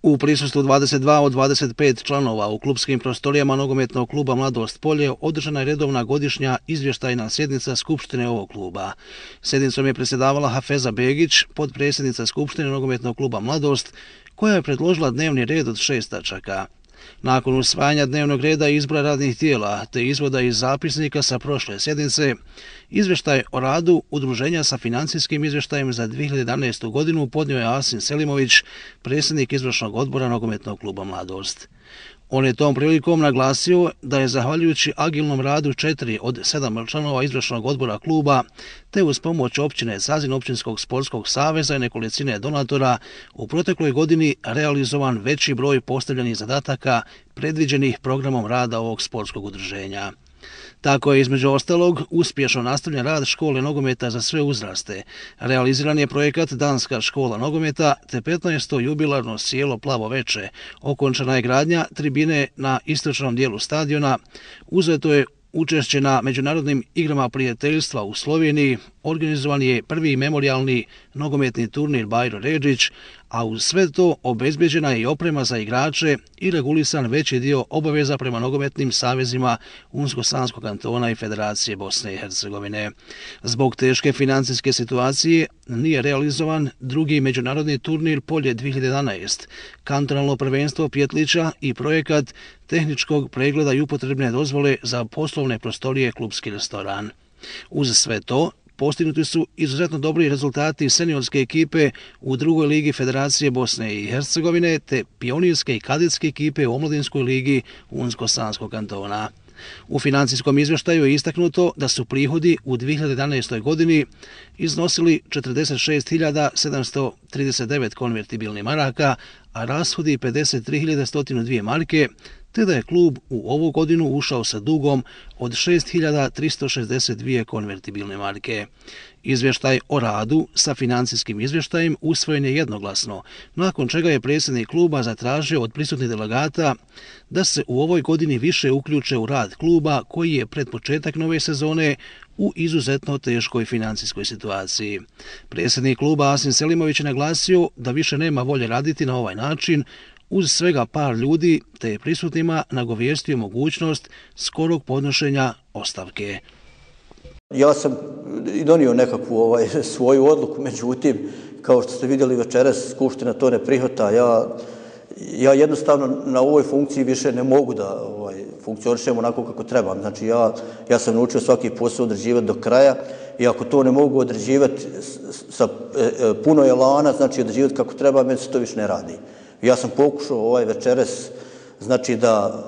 U prisustvu 22 od 25 članova u klupskim prostorijama nogometnog kluba Mladost Polje održana je redovna godišnja izvještajna sjednica Skupštine ovog kluba. Sjednicom je predsjedavala Hafeza Begić, potpredsjednica Skupštine nogometnog kluba Mladost, koja je predložila dnevni red od 6 tačaka. Nakon usvajanja dnevnog reda i izbora radnih tijela te izvoda iz zapisnika sa prošle sjednice, izvještaj o radu udruženja sa financijskim izvještajem za 2011. godinu podnio je Asim Selimović, predsjednik izvršnog odbora nogometnog kluba Mladost. On je tom prilikom naglasio da je zahvaljujući agilnom radu 4 od 7 članova izvršnog odbora kluba, te uz pomoć općine Zazin općinskog sportskog saveza i nekolicine donatora, u protekloj godini realizovan veći broj postavljenih zadataka predviđenih programom rada ovog sportskog udruženja. Tako je između ostalog uspješno nastavljen rad škole nogometa za sve uzraste. Realiziran je projekat Danska škola nogometa te 15. jubilarno sjelo Plavo veče. Okončana je gradnja tribine na istočnom dijelu stadiona. Uzeto je učešće na međunarodnim igrama prijateljstva u Sloveniji, organizovan je prvi memorijalni nogometni turnir Bajro Redžić, a uz sve to obezbeđena je i oprema za igrače i regulisan veći dio obaveza prema nogometnim savezima Unsko-Sanskog kantona i Federacije Bosne i Hercegovine. Zbog teške financijske situacije nije realizovan drugi međunarodni turnir Polje 2011, kantonalno prvenstvo Pjetlića i projekat tehničkog pregleda i upotrebne dozvole za poslovne prostorije klupski restoran. Uz sve to, postignuti su izuzetno dobri rezultati seniorske ekipe u drugoj ligi Federacije Bosne i Hercegovine te pionirske i kadetske ekipe u omladinskoj ligi Unsko-Sanskog kantona. U financijskom izvještaju je istaknuto da su prihodi u 2011. godini iznosili 46.739 konvertibilnih maraka, a rashodi 53.102 marke, te da je klub u ovu godinu ušao sa dugom od 6.362 konvertibilne marke. Izvještaj o radu sa financijskim izvještajem usvojen je jednoglasno, nakon čega je predsjednik kluba zatražio od prisutnih delegata da se u ovoj godini više uključe u rad kluba koji je pred početak nove sezone u izuzetno teškoj financijskoj situaciji. Predsjednik kluba Asim Selimović je naglasio da više nema volje raditi na ovaj način, uz svega par ljudi, te je prisutnima nagovijestio mogućnost skorog podnošenja ostavke. Ja sam i donio nekakvu svoju odluku, međutim, kao što ste vidjeli večeras, Skupština to ne prihvata. Ja jednostavno na ovoj funkciji više ne mogu da funkcionišem onako kako trebam. Znači, ja sam naučio svaki posao odrađivati do kraja i ako to ne mogu odrađivati sa puno elana, znači odrađivati kako treba, meni se to više ne radi. Ja sam pokušao večeras, znači da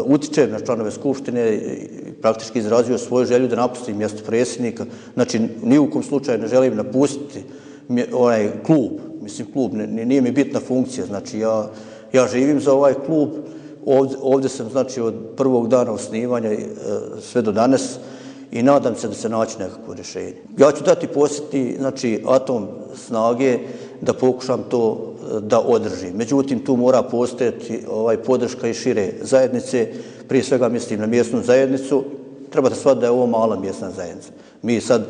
utičem na članove Skupštine i praktički izrazio svoju želju da napustim mjesto predsjednika. Znači, ni u kom slučaju ne želim napustiti onaj klub. Mislim, klub nije mi bitna funkcija. Znači, ja živim za ovaj klub. Ovdje sam, znači, od prvog dana osnivanja sve do danas i nadam se da se naći nekakvo rješenje. Ja ću dati posjeti, znači, atom snage da pokušam to da održim. Međutim, tu mora postojati podrška i šire zajednice, prije svega mislim na mjesnu zajednicu. Trebate shvatiti da je ovo mala mjesna zajednica. Mi sad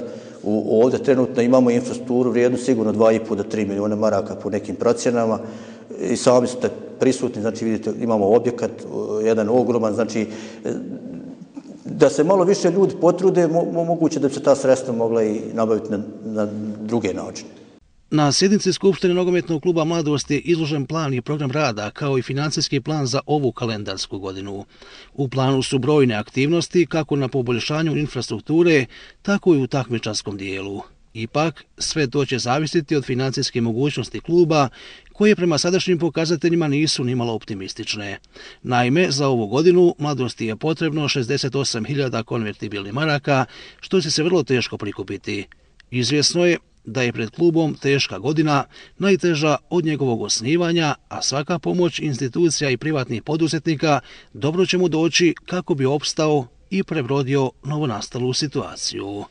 ovdje trenutno imamo infrastrukturu vrijednu sigurno 2,5 do 3 milijuna maraka po nekim procjenama i sami ste prisutni, znači vidite imamo objekat, jedan ogroman, znači da se malo više ljudi potrude, moguće da bi se ta sredstva mogla i nabaviti na druge načine. Na sjednici Skupštine nogometnog kluba Mladost je izložen plan i program rada kao i financijski plan za ovu kalendarsku godinu. U planu su brojne aktivnosti kako na poboljšanju infrastrukture, tako i u takmičarskom dijelu. Ipak, sve to će zavisiti od financijske mogućnosti kluba, koje prema sadašnjim pokazateljima nisu nimalo optimistične. Naime, za ovu godinu Mladosti je potrebno 68.000 konvertibilnih maraka, što će se vrlo teško prikupiti. Izvjesno je da je pred klubom teška godina, najteža od njegovog osnivanja, a svaka pomoć institucija i privatnih poduzetnika dobro će mu doći kako bi opstao i prebrodio novonastalu situaciju.